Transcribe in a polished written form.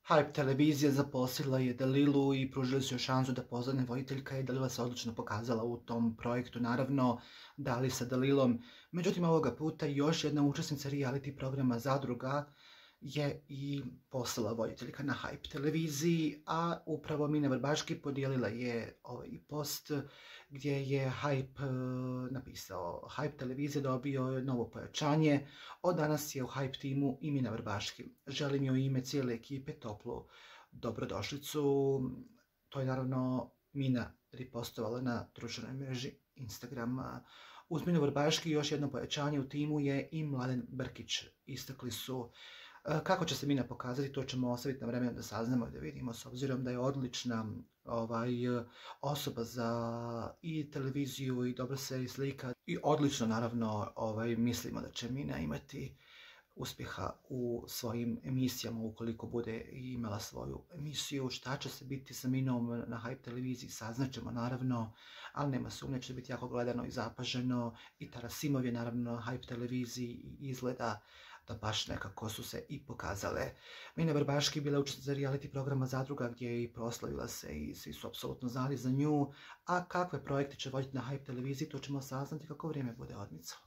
Hype televizija zaposlila je Dalilu i pružili su joj šansu da postane voditeljka i Dalila se odlično pokazala u tom projektu, naravno Dali sa Dalilom. Međutim, ovoga puta još jedna učesnica reality programa Zadruga je i postala voditeljka na Hype televiziji, a upravo Mina Vrbaški podijelila je ovaj post gdje je Hype napisao: Hype televizija dobio novo pojačanje, od danas je u Hype timu i Mina Vrbaški. Želim joj u ime cijele ekipe toplu dobrodošlicu. To je naravno Mina ripostovala na društvenoj mreži Instagram. Uz Minu Vrbaški još jedno pojačanje u timu je i Mladen Brkić. Istakli su kako će se Mina pokazati, to ćemo ostaviti na vremenu da saznamo i da vidimo, s obzirom da je odlična osoba za i televiziju i dobro se i slika. I odlično, naravno, mislimo da će Mina imati uspjeha u svojim emisijama ukoliko bude imala svoju emisiju. Šta će se biti sa Minom na Hype televiziji saznaćemo, naravno, ali nema sumnje, će biti jako gledano i zapaženo. I Tarasimov je naravno na Hype televiziji i izgleda da baš nekako su se i pokazale. Mina Vrbaški bila učesnica reality programa Zadruga gdje je i proslavila se i svi su apsolutno znali za nju. A kakve projekte će voditi na Hype televiziji, to ćemo saznati kako vrijeme bude odmicalo.